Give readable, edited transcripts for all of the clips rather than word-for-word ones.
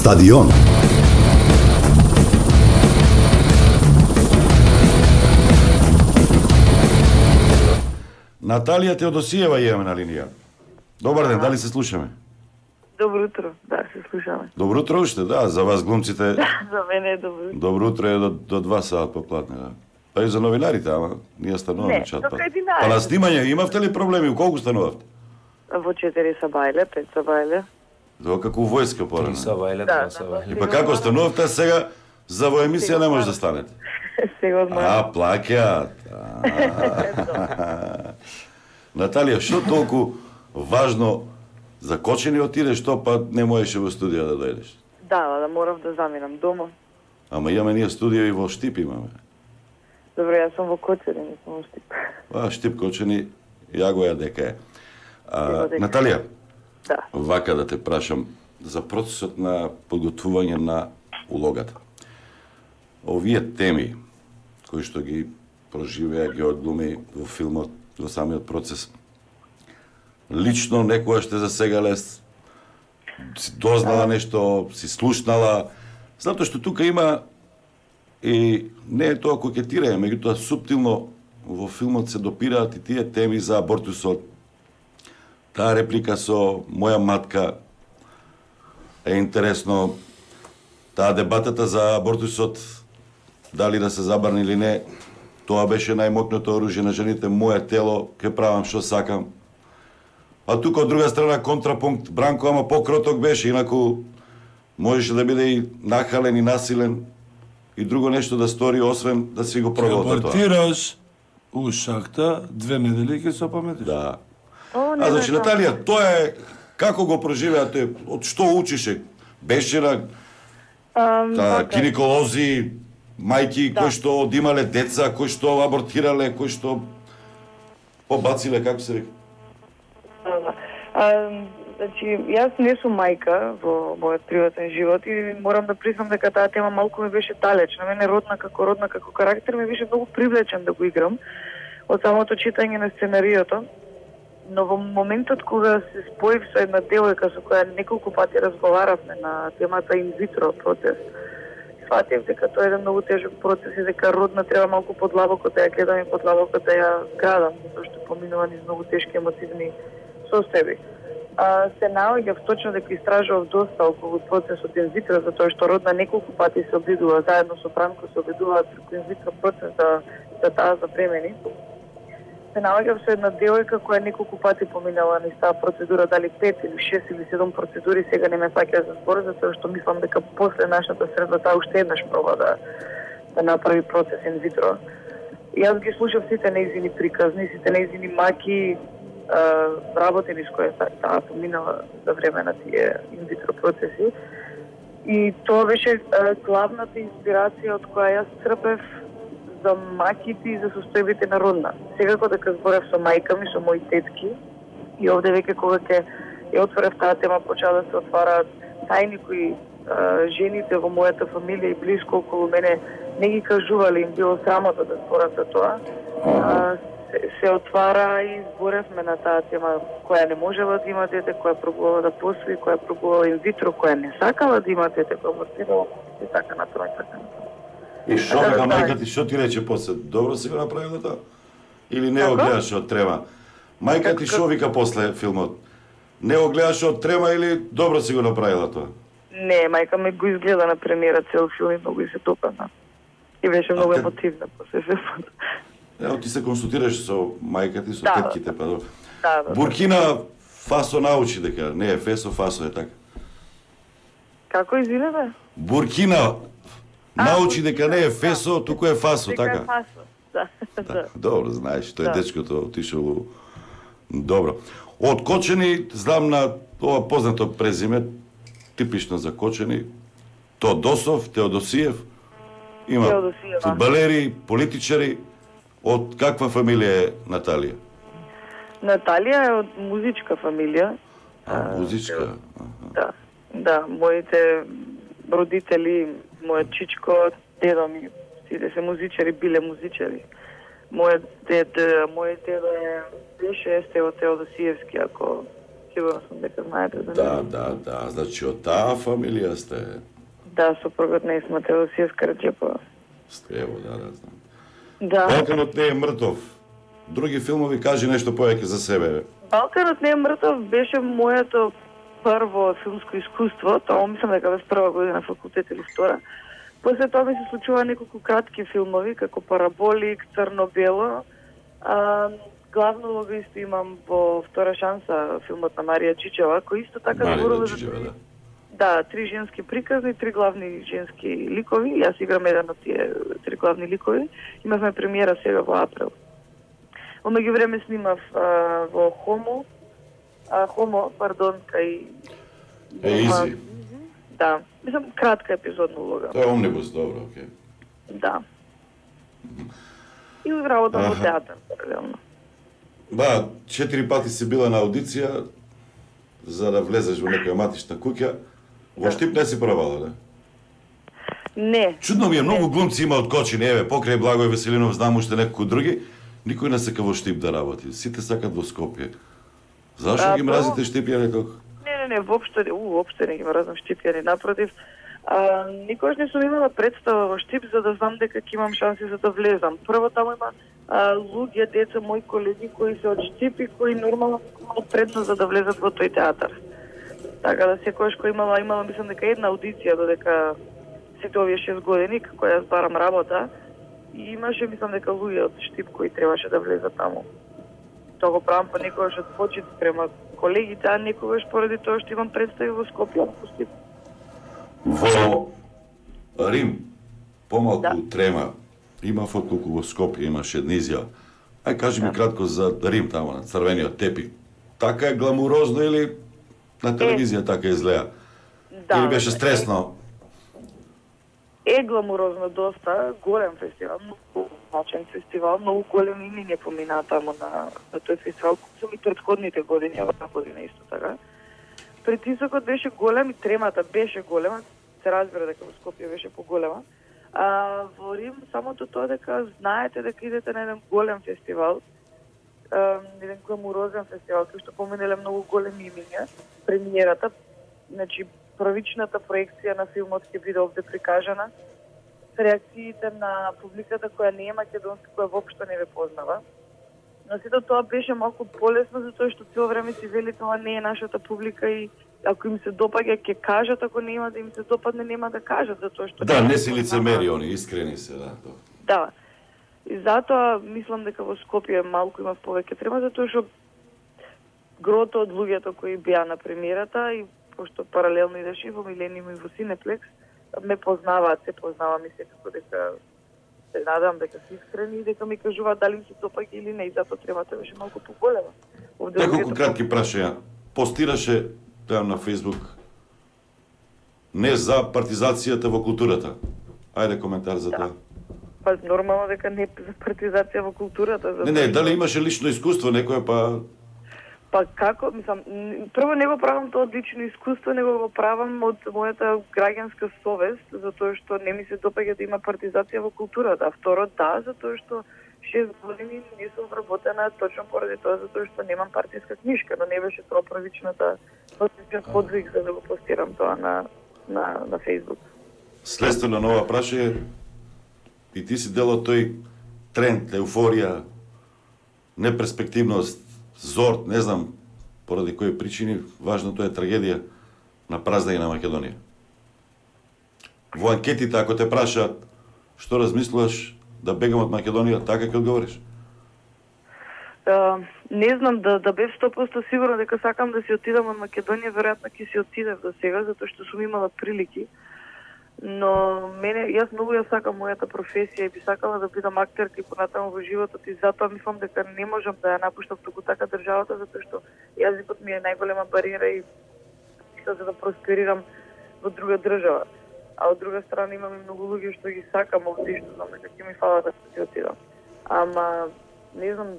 Стадион. Наталија Теодосиева имаме на линија. Добар ден, дали се слушаме? Добро утро, да, се слушаме. Добро утро уште, да, за вас глумците. За мене е добро утро. Добро утро е до 2 саат поплатне, да. Па и за новинарите, ама ние стануваме чат. Па на снимање имавте ли проблеми? Колку станувавте? Во 4 са бајле, 5 са бајле. До како војска порано. 3 са бајле, 2 са бајле. Па како станувавте сега за во емисија не може да станете? Сега одмарам. Плаќаат. Наталија, што толку важно за Кочани отидеш, што па не можеше во студија да дојдеш? Да морав да заминам дома. Ама имаме ние студија и во Штип имаме. Добро, јас сум во Кочани, не сум во Штип. Штип Кочани, ја го ја дека е. Наталија, да. Вака да те прашам за процесот на подготвување на улогата. Овие теми кои што ги проживеа, ги одглуми во филмот, во самиот процес, лично некојаш те засегале, си дознала нешто, си слушнала, затоа што тука има и не е тоа кокетирање, меѓутоа суптилно во филмот се допираат и тие теми за абортусот. Таа реплика со моја матка е интересно. Таа дебатата за абортусот, дали да се забрани или не, тоа беше најмокното оружје на жените, моје тело, ке правам што сакам. А тука од друга страна контрапункт, Бранко, ама покроток беше, инаку можеше да биде и нахален и насилен и друго нешто да стори, освен да си го проголта тоа. Абортираш у шахта, 2 недели ќе се опаметиш. Да. Значи, Наталија, тоа е како го проживеа тој, од што учише? Беше на гинеколози, мајки кои што одимале деца, кои што абортирале, кои што побациле, како се вика? Значи, јас не сум мајка во мојот приватен живот и морам да признам дека таа тема малку ми беше далечна. Мене родна како карактер ми беше многу привлечен да го играм од самото читање на сценариото. Но во моментот кога се споив со една девојка со која неколку пати разговаравме на темата инвитро процес, сватив дека тоа е еден многу тежок процес и дека родна треба малку подлабоко да ја гледам и подлабоко да ја градам, затоа што поминува низ многу тешки емотивни состојби. Се наоѓав точно дека истражував доста околу процесот инвитро, затоа што родна неколку пати се обидува, заедно со Бранко се обидуваат преку инвитро процес да таа запремени. Се наоѓав со една девојка која неколку пати поминала низ таа процедура, дали 5 или 6 или 7 процедури, сега не ме фаќа за збор, затоа што мислам дека после нашата средба таа уште еднаш проба да направи процес инвитро. И јас ги слушав сите нејзини приказни, сите нејзини маки, работи низ која таа поминала за време на тие инвитро процеси. И тоа беше главната инспирација од која јас црпев за маките и за состојбите на родна. Секако дека зборев со мајка ми, со мои тетки, и овде веќе кога ќе ја отворев таа тема, почаа да се отвараат тајни кои жените во мојата фамилија и блиско околу мене не ги кажувале, им било срамота да зборат за тоа. Се отвара и зборевме на таа тема која не можела да има дете, која пробувала да посвои, која пробувала инвитро, која не сакала да има дете, која абортирала и така натаму и така натаму. И што вика мајка ти, што ти рече после? Добро си го направила тоа? Или не го гледаше од трема? Мајка ти што вика после филмот? Не го гледаше од трема или добро си го направила тоа? Не, мајка ми го изгледа на премиера цел филм и многу се допадна. И беше многу емотивна после филмот. Ево ти се консултираш со мајка ти, со тетките, па добро. Да. Буркина Фасо научи дека не е Фесо, Фасо е така. Како извинете? Буркина научи дека не е Фесо, туку е Фасо, така? Дека е Фасо, да. Добро, знаеш, тој дечкото отишол добро. Од Кочани, знам на ова познато презиме, типично за Кочани, Тодосов, Теодосиев, има фудбалери, политичари. Од каква фамилија е Наталија? Наталија е од музичка фамилија. Музичка? Да, моите родители, мојот чичко, дедо ми, сите се музичари, биле музичари. Мојот дедо беше Стево Теодосиевски, ако сигурно сум дека знаете за Да. Значи од таа фамилија сте. Да, сопругот на Исма Теодосиевска Раџепова. Ево, да, знам. Да. Балканот не е мртов. Други филмови, кажи нешто повеќе за себе. Балканот не е мртов беше моето прво филмско искуство, тоа мислам дека беше прва година факултет или втора. После тоа ми се случува неколку кратки филмови, како Параболик, Црно-бело. Главно улога исто имам во Втора шанса, филмот на Марија Чичева, кој исто така зборува за... Да, 3 женски приказни, 3 главни женски ликови. Јас играм еден од тие 3 главни ликови. Имавме премиера сега во април. Во меѓувреме снимав во Хомо, кај... Изи. Да, мислам кратка епизодна улога. Тоа е омнибус, добро, окей. Да. И работам во театар, паралелно. 4 пати си била на аудиција за да влезеш во некоја матична куќа. Во Штип не си пробала, да? Не. Чудно ми е, многу глумци има од Кочини, еве, покрај Благој Веселинов, знам уште некои други, никој не сака во Штип да работи. Сите сакат во Скопје. Зашо ги мразите Штипјани толку? Не, воопште не ги мразам Штипјани, напротив. Никош не сум имала представа во Штип за да знам дека ќе имам шанси за да влезам. Прво таму има луѓе, деца, мои колеги кои се од Штип и кои нормално имаат предност за да влезат во тој театар. Така да секојаш кој имала мислам дека една аудиција додека сите овие 6 години како јас барам работа и имаше мислам дека луѓе од Штип кои требаше да влезат таму. Тоа го правам по некојаш од почит према колегите, а некогаш поради тоа што имам представи во Скопје, во Штип. Во Рим, помалку трема, имав отколку во Скопје имаше една изјава. Ај кажи ми кратко за Рим таму на црвениот тепик. Така е гламурозно или на телевизија така изгледа? Да. Или беше стресно? Е гламурозно доста, голем фестивал, многу значен фестивал, многу големи имиња поминаа таму на тој фестивал, со и претходните години, оваа година исто така. Притисокот беше голем и тремата беше голема, се разбира дека во Скопје беше поголема. Во Рим самото тоа дека знаете дека идете на еден голем фестивал, еден гламурозен фестивал, кој што поминеле многу големи имиња, премиерата, значи првичната проекција на филмот ќе биде овде прикажана, реакциите на публиката која не е македонска, која воопшто не ве познава. Но сето тоа беше малку полесно, затоа што цело време си вели тоа не е нашата публика и ако им се допаѓа ќе кажат, ако не има да им се допадне нема да кажат, затоа што... Да, не си лицемери, они искрени се, да. Да. И затоа мислам дека во Скопје малку има повеќе трема, затоа што грото од луѓето кои беа на премиерата и пошто паралелно идеше во Милениум и во Синеплекс, ме познаваат, се познавам и секако дека се надам дека се искрени и дека ми кажуваат дали им се допаѓа или не, и затоа тремата беше малку поголема. Неколку кратки прашања. Постираше там на Фейсбук не за партизацијата во културата. Ајде коментар за тоа. Па нормално дека не за партизација во културата. Не, дали имаше лично искуство некоја па... Па како, мислам, прво не го правам тоа од лично искуство, него го правам од мојата граѓанска совест, затоа што не ми се допаѓа да има партизација во културата. А второ, да, затоа што 6 години не сум вработена точно поради тоа, затоа што немам партиска книшка, но не беше тоа првичната подвиг за да го постирам тоа на Фейсбук. Следствено на ова прашање, и ти си дел од тој тренд, еуфорија, неперспективност, зорт, не знам поради кои причини, важното е трагедија на праздање на Македонија. Во анкетите, ако те прашаат што размислуваш да бегам од Македонија, така ќе одговориш? Не знам, да бев 100% сигурна дека сакам да си отидам од Македонија, веројатно ќе си отидев до сега, затоа што сум имала прилики. Но јас многу ја сакам мојата професија и би сакала да бидам актерка и понатаму во животот и затоа мислам дека не можам да ја напуштам туку така државата, затоа што јазикот ми е најголема бариера и за да просперирам во друга држава. А од друга страна имам и многу луѓе што ги сакам овде и што знам дека ќе ми фала да си отидам. Ама не знам,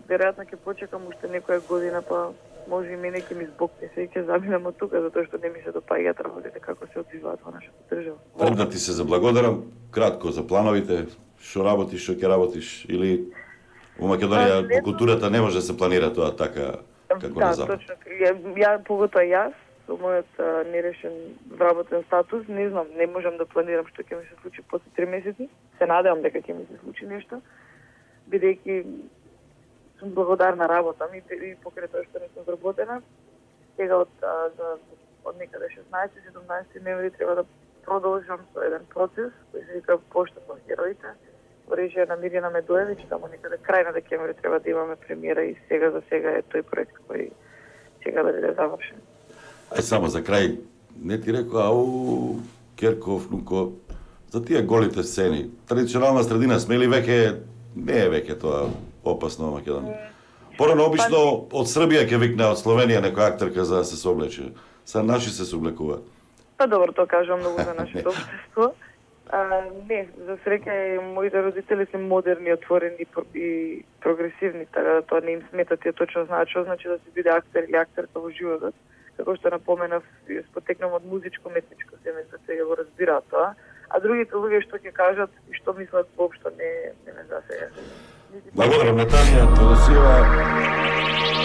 веројатно ќе почекам уште некоја година, па може и мене ќе ми збокне се и ќе заминам од тука, затоа што не ми се допаѓаат работите како се одвиваат во нашата држава. Да ти се заблагодарам, кратко за плановите, што работиш, што ќе работиш, или во Македонија во културата не може да се планира тоа така како на Запад. Точно. Ја поготоа јас, со мојот нерешен вработен статус, не знам, не можам да планирам што ќе ми се случи после 3 месеци. Се надевам дека ќе ми се случи нешто, бидејќи сум благодарна работам и покрај тоа што не сум вработена. Сега од некаде 16-17 ноември треба да продолжам со еден процес кој се вика Пошта со героите, во режија на Мирјана Медоевиќ, таму некаде крај на декември треба да имаме премиера и сега за сега е тој проект кој сега да биде завршен. Ај само за крај, не ти рекоа, Керков, Нуко, за тие голите сцени, традиционална средина сме или веќе, не е веќе тоа опасно во Македонија? Порано обично од Србија ќе викне, од Словенија некоја актерка за да се соблече. Са наши се сооблекуваат. Па добро, тоа кажувам многу за нашето општество. Не, за среќа моите родители се модерни, отворени и прогресивни, така да тоа не им смета, тие точно знаат што значи да се биде актер или актерка во животот. Како што напоменав, потекнам од музичко-метничко семејство, сега го разбираат тоа. А другите луѓе што ќе кажат и што мислат воопшто не ме засега. Благодарам, Наталија Тодосиева.